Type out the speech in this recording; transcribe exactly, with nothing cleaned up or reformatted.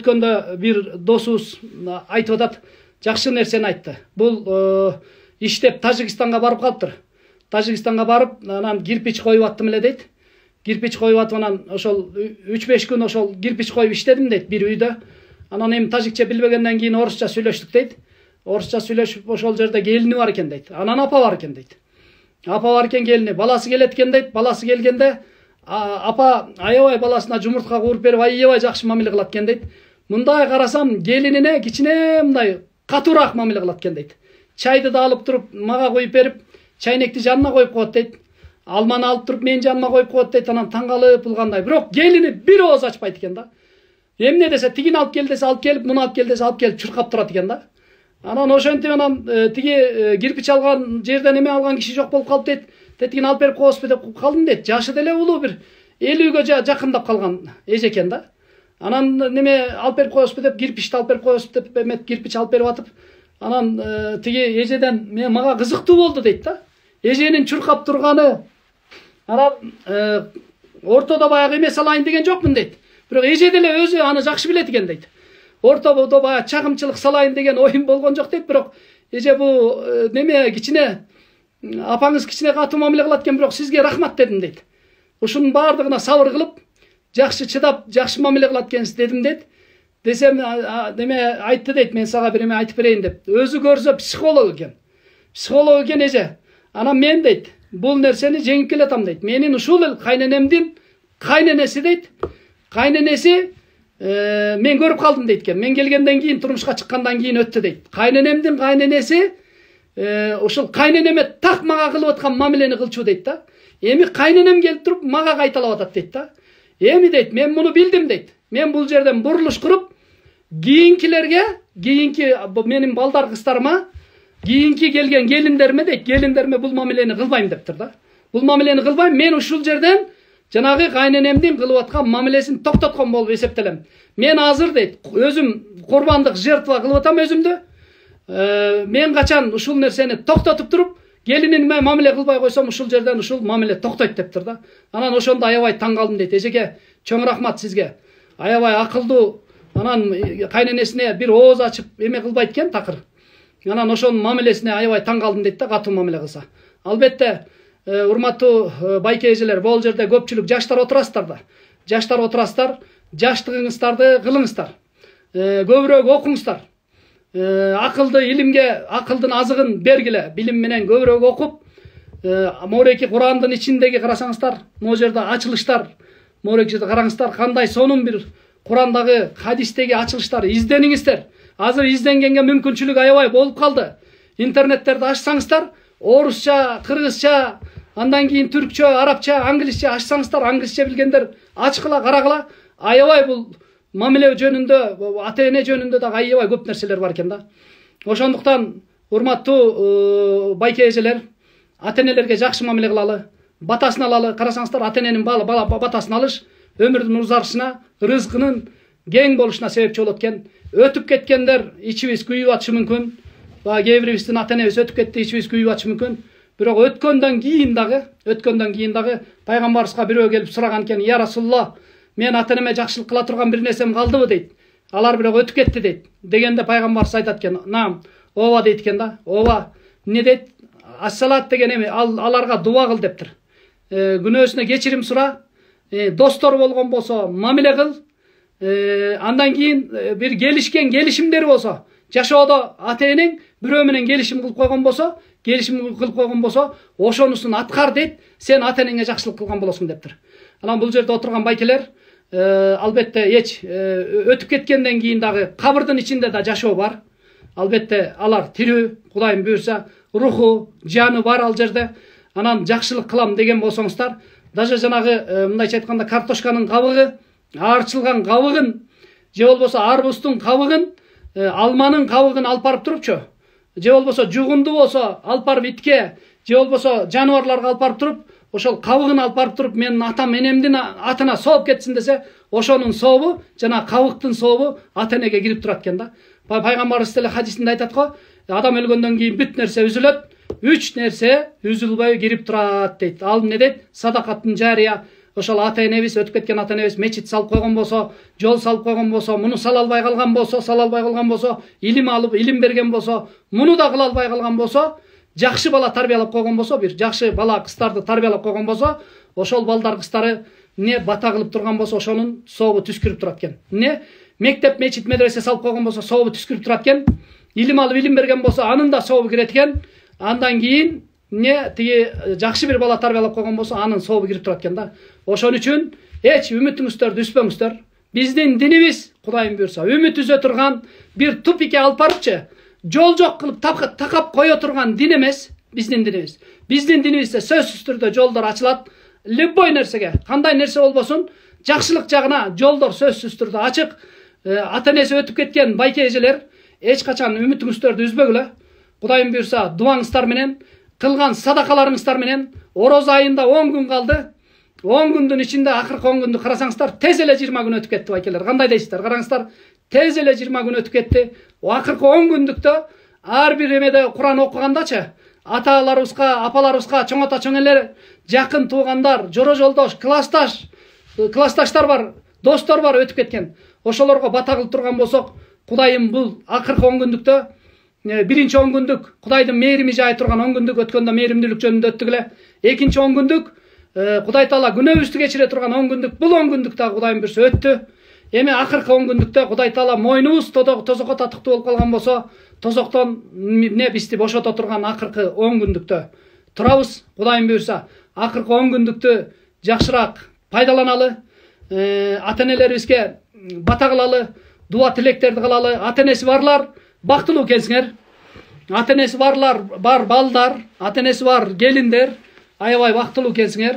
Өткөндө бир досубуз айтып атат, жакшы нерсени айтты. Бул иштеп Тажикстанга барып калыптыр. Тажикстанга барып, анан кирпич коюп аттым эле дейт. Кирпич коюп атып, анан ошол үч беш күн ошол кирпич коюп иштедим дейт бир үйдө. Анан эми тажикче билбегенден кийин орусча сүйлөштүк дейт. Орусча сүйлөшүп ошол жерде келини бар экен дейт. Анан апа бар экен дейт. Апа бар экен, келини, баласы келет экен дейт. Баласы келгенде апа аябай баласына жумуртка кууруп берип, аябай жакшы мамиле кылат экен дейт. Мындай карасам, келинине кичине мындай катуураак мамиле кылат экен дейт. Чайды да алып туруп мага коюп берип, чайнекти жанына коюп коет дейт. Алманы алып туруп менин жаныма коюп коет дейт. Анан таң калып булгандай. Бирок келини бир ооз ачпайт экен да. Эмне десе, тигини алып кел десе алып келип, муну алып кел десе алып келип чуркап турат экен да. Анан ошентип анан тиги кирпич алган жерден эме алган киши жок болуп калып дейт. Тетигин алып берип коесузбу деп калдым дейт. Жашы деле улуу, бир элүүгө жакындап калган эже экен да. Анан неме алып берип коесузбу деп, кирпичти алып берип коесузбу деп эмет кирпич алып берип атып, анан тиги эжеден мен мага кызыктуу болду дейт да. Эженин чуркап турганы, анан ортодо баягы эме салайын деген жокмун дейт. Бирок эже деле өзү аны жакшы билет экен дейт. Ортодо баягы чагымчылык салайын деген оюм болгон жок дейт. Бирок эже бу неме кичине апаңыз кичине катуу мамиле кылат экен, бирок сизге рахмат дедим дейт. Ушунун баардыгына сабыр кылып, жакшы чыдап, жакшы мамиле кылат экенсиз дедим дейт. Десем, неме айтты дейт, мен сага бир эме айтып берейин деп. Өзү көрсө психолог экен. Психолог экен эже. Анан мен дейт, бул нерсени жеңип келатам дейт. Менин ушул эл кайненемдин кайненеси дейт. Кайненеси мен көрүп калдым дейт экен. Мен келгенден кийин, турмушка чыккандан кийин өттү дейт. Кайненемдин кайненеси ошол кайненеме так мага кылып аткан мамилени кылчу дейт да. Эми кайненем келип туруп мага кайталап атат дейт да. Эми дейт, мен муну билдим дейт. Мен бул жерден бурулуш куруп, кийинкилерге, кийинки менин балдар кыздарыма, кийинки келген келиндериме дейт, келиндериме бул мамилени кылбайм дептир да. Бул мамилени кылбайм, мен ушул жерден жанагы кайненемдин кылып аткан мамилесин токтоткон болуп эсептелем. Мен азыр дейт, өзүм курбандык жертва кылып атам өзүмдү. Мен качан ушул нерсени токтотуп туруп, келиниме мамиле кылбай койсом, ушул жерден ушул мамиле токтойт дептир да. Анан ошондо аябай таң калдым дейт. Эжеге чоң рахмат сизге. Аябай акылдуу. Анан кайненесине бир ооз ачып эме кылбайт экен такыр. Анан ошонун мамилесине аябай таң калдым дейт да, катуу мамиле кылса. Албетте, урматтуу байке эжелер, бул жерде көпчүлүк жаштар отурасыздар да. Жаштар отурасыздар, жаштыгыңыздарды кылыңыздар. Көбүрөөк окуңуздар. Акылды илимге, акылдын азыгын бергиле, билим менен көбүрөөк окуп, мореки Курандын ичиндеги карасаңыздар, могу жерде ачылыштар, мореки караңыздар, кандай сонун бир Курандагы, хадистеги ачылыштар издениңиздер. Азыр изденгенге мүмкүнчүлүк аябай болуп калды. Интернеттерди ачсаңыздар, орусча, кыргызча, андан кийин түркчө, арабча, англисче ачсаңыздар, англисче билгендер ачкыла, карагыла, аябай бул мамиле жөнүндө, ата эне жөнүндө да аябай көп нерселер бар экен да. Ошондуктан, урматтуу байке эжелер, ата энелерге жакшы мамиле кылалы, батасын алалы. Карасаңыздар, ата эненин бала батасын алыш өмүрдүн узарышына, рызкынын кең болушуна себепчи болот экен. Өтүп кеткендер ичибиз күйүп атышы мүмкүн. Баа кээ бирибиздин ата энебиз өтүп кетти, ичибиз күйүп атышы мүмкүн. Бирок өткөндөн кийин дагы, өткөндөн кийин дагы пайгамбарыбызга бирөө келип сураган экен: "Я Расулулла, мен ата энеме жакшылык кыла турган бир нерсем калдыбы?" дейт. "Алар бирок өтүп кетти" дейт. Дегенде пайгамбарыбыз айтат экен: "Наам, ооба" дейт экен да. "Ооба. Эмне дейт? Ассалат деген эме, аларга дуа кыл" дептир. Күнөөсүнө кечирим сура, достор болгон болсо мамиле кыл. Андан кийин бир келишкен келишимдери болсо, жашоодо ата энең бирөө менен келишим кылып койгон болсо, келишим кылып койгон болсо, ошонусун аткар дейт, сен ата энеңе жакшылык кылган болосуң дептир. Анан бул жерде отурган байкелер, албетте эч өтүп кеткенден кийин дагы кабырдын ичинде да жашоо бар. Албетте алар тирүү, Кудайым буйрса, руху, жаны бар ал жерде. Анан жакшылык кылам деген болсоңуздар, даже жанагы мындайча айтканда картошканын кабыгы, аарчылган кабыгын, же болбосо арбуздун кабыгын, алманын кабыгын алып барып турупчу, же болбосо жугунду болсо алып барып итке, же болбосо жаныбарларга алып барып туруп, ошол кабыгын алып барып туруп, менин атам энемдин атына сооп кетсин десе, ошонун сообу, жана кабыктын сообу ата энеге кирип турат экен да. Пайгамбарыбыз деле хадисинде айтат го, адам өлгөндөн кийин бүт нерсе үзүлөт, үч нерсе үзүлбөй кирип турат дейт. Ал эмне дейт? Садакаттын жария, ошол ата энебиз, өтүп кеткен ата энебиз мечит салып койгон болсо, жол салып койгон болсо, муну сала албай калган болсо, сала албай калган болсо, илим алып, илим берген болсо, муну да кыла албай калган болсо, жакшы бала тарбиялап койгон болсо, бир жакшы бала кыздарды тарбиялап койгон болсо, ошол балдар кыздары эмне бата кылып турган болсо, ошонун сообу түскүрүп турат экен. Эмне мектеп, мечит, медресе салып койгон болсо, сообу түскүрүп турат экен. Илим алып, илим берген болсо, анын да сообу кирет экен. Андан кийин эмне тиги жакшы бир бала тарбиялап койгон болсо, анын сообу кирип турат экен да. Ошон үчүн эч үмүтүңүздөрдү үзбөңүздөр. Биздин динибиз, Кудайым буйрса, үмүт үзө турган бир тупикке алып барыпчы, жол жок кылып такап кое турган дин эмес биздин динибиз. Биздин динибизде сөзсүз түрдө жолдор ачылат. Любой нерсеге, кандай нерсе болбосун, жакшылык жагына жолдор сөзсүз түрдө ачык. Ата энеси өтүп кеткен байке эжелер, эч качан үмүтүңүздөрдү үзбөгүлө. Кудайым буйрса, дуаңыздар менен, кылган садакаларыңыздар менен, ороз айында он күн калды. он күндүн ичинде акыркы он күндү карасаңыздар, тез эле жыйырма күн өтүп кетти байкелер. Кандай дейсиздер? Караңыздар, тез эле жыйырма күн өтүп кетти. Акыркы он күндүктө ар бир эмеде Куран окугандачы, аталарыбызга, апаларыбызга, чоң ата, чоң элер, жакын туугандар, жора жолдош, классташ, классташтар бар, достор бар өтүп кеткен. Ошолорго бата кылып турган болсок, Кудайым бул акыркы он күндүктө, биринчи он күндүк Кудайдын мээрими жай турган он күндүк өткөндө мээримдүүлүк жөнүндө өттүк эле. Экинчи он күндүк Кудай Таала күнөөбүздү кечире турган он күндүк, бул он күндүк да Кудайым буйрса өттү. Эми акыркы он күндүктө Кудай Таала мойнубуз тозокко татыктуу болуп калган болсо, тозоктон эмне бизди бошото турган акыркы он күндүктө турабыз. Кудайым буйрса, акыркы он күндүктү жакшыраак пайдаланалы, ата энелерибизге бата кылалы, дуа тилектерди кылалы. Ата энеси барлар бактылуу келсиңер. Ата энеси барлар бар балдар, ата энеси бар келиндер, аябай бактылуу келсиңер.